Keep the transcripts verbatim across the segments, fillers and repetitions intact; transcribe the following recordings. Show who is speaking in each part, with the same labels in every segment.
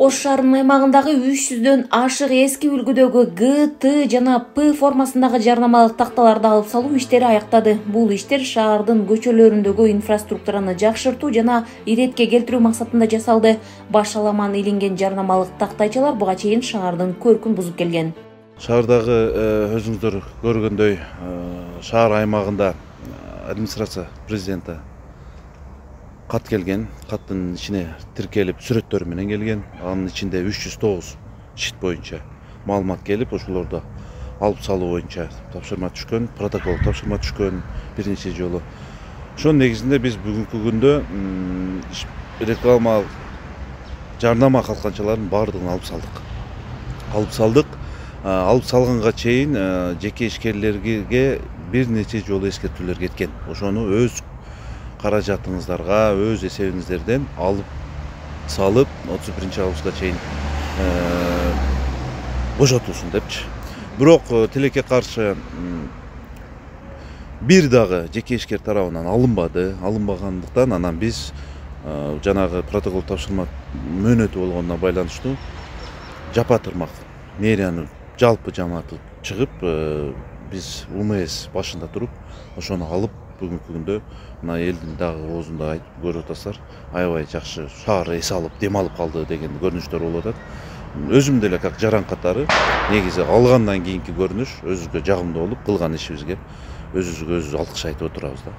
Speaker 1: Ош шаарынын аймагындагы үч жүздөн ашык эски үлгүдөгү Г, Т жана П формасындагы жарнамалык такталарды алып салуу иштери аяктады. Бул иштер шаардын көчөлөрүндөгү инфраструктураны жакшыртуу жана иретке келтирүү максатында жасалды. Башаламан илинген жарнамалык тактайчалар буга чейин шаардын көркүн бузуп келген.
Speaker 2: Шаардагы өзүңүздөр көргөндөй шаар аймагында администрация президенти кат келген, каттын ичине тиркелип сүрөттөр менен келген. Анын ичинде үч жүз тогуз шит боюнча маалымат келип, ошолорду алып салуу боюнча тапшырма түшкөн, протокол тапшырма түшкөн бир нече жолу. Ошонун негизинде биз бүгүнкү күндө рекламалык жарнама калканчалардын баардыгын алып салдык. Алып салдык. Алып салганга чейин жеке ишкерлерге бир нече жолу эскертүүлөр кеткен. Ошону өз каражатыңыздарга, өз эсебиңиздерден алып салып, отуз биринчи августка чейин бошотулсун депчи. Бирок тилекке каршы бир дагы жеке ишкер тарабынан алынбады. Алынбагандыктан анан биз жанагы протокол тапшырма мөөнөтү болгонуна байланыштуу жапа тырмак мэрияны жалпы жамааты чыгып, биз У М С башында туруп, ошону алып бүгүнкү күндө мына элдин дагы оозунда айтып көрүп атасыздар, аябай жакшы шаар эс алып, дем алып калды деген көрүнүштөр болуп атат. Өзүм деле как жаран катары негизи алгандан кийинки көрүнүш өзүбүзгө жагымдуу болуп, кылган ишибизге өзүбүзгө өзүбүз алкыш айтып отурабыз да.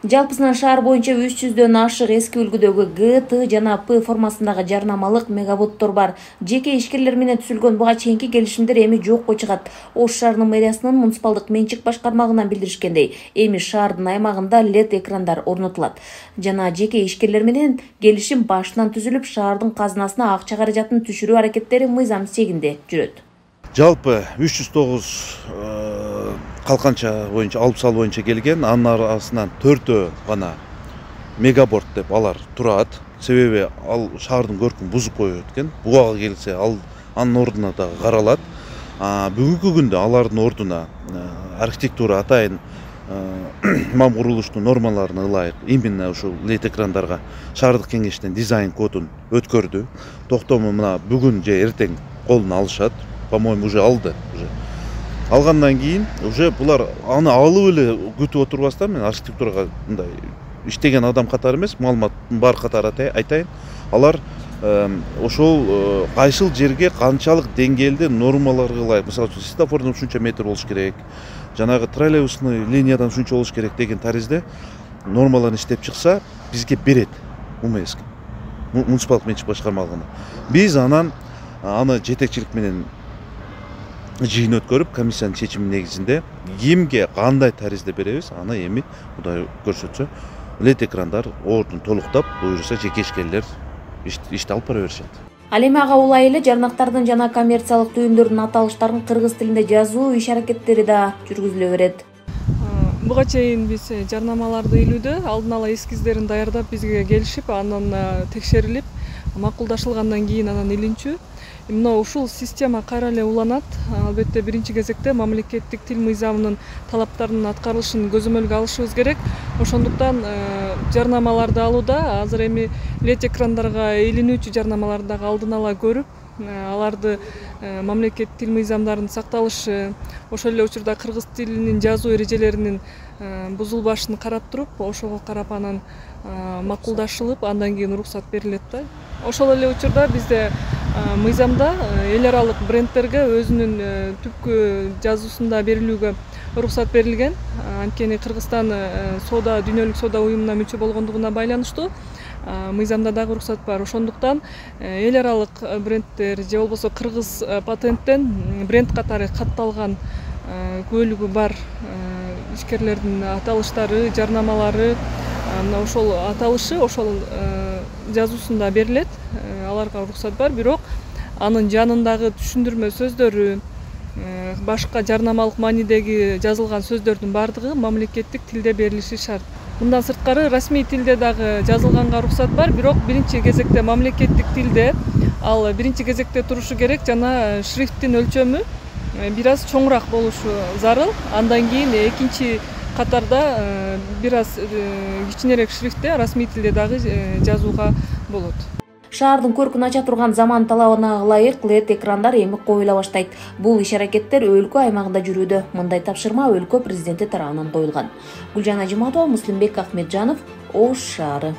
Speaker 1: Жалпысынан шаар боюнча үч жүздөн ашык эски үлгүдөгү Г, Т жана П формасындагы жарнамалык мегаботтор бар. Жеке ишкерлер менен түзүлгөн буга чейинки келишимдер эми жокко чыгат. Ош шаарынын мэриясынын муниципалдык менчик башкармагынан билдиришкендей, эми шаардын аймагында лед экрандар орнотулат. Жана жеке ишкерлер менен келишим башынан түзүлүп, шаардын казынасына акча каражатын түшүрүү аракеттери мыйзам сегинде жүрөт.
Speaker 2: Жалпы үч жүз тогуз калканча боюнча алып салуу боюнча келген, анын арасынан төртөө гана мегаборт деп алар турат. Себеби ал шаардын көркүн бузуп коюп өткөн. Буга келсе, ал анын ордуна дагы каралат. Бүгүнкү күндө алардын ордуна архитектура атайын мам курулуштун нормаларына ылайык именно ушул лед экрандарга шаардык кеңештин дизайн кодун өткөрдү. Токтому мына бүгүн же эртең колуна алышат. По-моему, уже алды. Уже. Алгандан кийин уже булар аны алып эле күтүп отурбастан, мен архитектурага мындай иштеген адам катары эмес, маалыматтын бар катары айтайын. Алар ошол кайсыл жерге канчалык деңгээлде нормаларга ылайык, мисалы үчүн светофордон ушунча метр болуш керек, жанагы троллейбусный линиядан ушунча болуш керек деген таризде нормаларын иштеп чыкса, бизге берет У М С. Муниципалдык менчик башкармалыгына. Биз анан аны жетекчилик менен жыйын өткөрүп, комиссиянын чечими негизинде кимге кандай таризде беребиз, аны эми Кудай көрсөтсө, лед экрандар ордун толуктап, буюрса жеке ишкерлер ишти алып бара беришет.
Speaker 1: Ал эми ага улай эле жарнактардын жана коммерциялык түйүндөрдүн аталыштарын кыргыз тилинде жазуу иш аракеттери да жүргүзүлө берет.
Speaker 3: Буга чейин биз жарнамаларды илүүдө алдын ала эскиздерин даярдап бизге келишип, анан текшерилип, макулдашылгандан кийин анан илинчү. Мына ушул система кайра эле уланат. Албетте биринчи кезекте мамлекеттик тил мыйзамынын талаптарынын аткарылышын көзөмөлгө алышыбыз керек. Ошондуктан жарнамаларды алууда азыр эми лед экрандарга илинүүчү жарнамаларды дагы алдын ала көрүп, аларды мамлекеттик тил мыйзамдарынын сакталышы, ошол эле учурда кыргыз тилинин жазуу эрежелеринин бузулбашын карап туруп, ошого карап анан макулдашылып, андан кийин уруксат берилет да. Ошол эле учурда бизде мыйзамда эл аралык брендтерге өзүнүн түпкү жазуусунда берилүүгө уруксат берилген. Анткени Кыргызстан соода дүйнөлүк соода уюмуна мүчө болгондугуна байланыштуу мыйзамда дагы уруксат бар. Ошондуктан эл аралык брендтер же болбосо кыргыз патенттен бренд катары катталган көлүгү бар ишкерлердин аталыштары, жарнамалары, ошол аталышы ошол жазуусунда берилет. Аларга уруксат бар, бирок анын жанындагы түшүндүрмө сөздөрү, башка жарнамалык маанидеги жазылган сөздөрдүн баардыгы мамлекеттик тилде берилиши шарт. Мындан сырткары расмий тилде дагы жазылганга уруксат бар, бирок биринчи кезекте мамлекеттик тилде, ал биринчи кезекте турушу керек, жана шрифттин өлчөмү бир аз чоңураак болушу зарыл. Андан кийин экинчи катарда бир аз кичинерээк шрифтте расмий тилде дагы жазууга болот.
Speaker 1: Шаардын көркүн ача турган заман талабына ылайык лед экрандар эми коюла баштайт. Бул иш-аракеттер өлкө аймагында жүрүүдө. Мындай тапшырма өлкө президенти тарабынан коюлган. Гүлжан Ажиматова, Муслимбек Ахмеджанов, Ош шаары.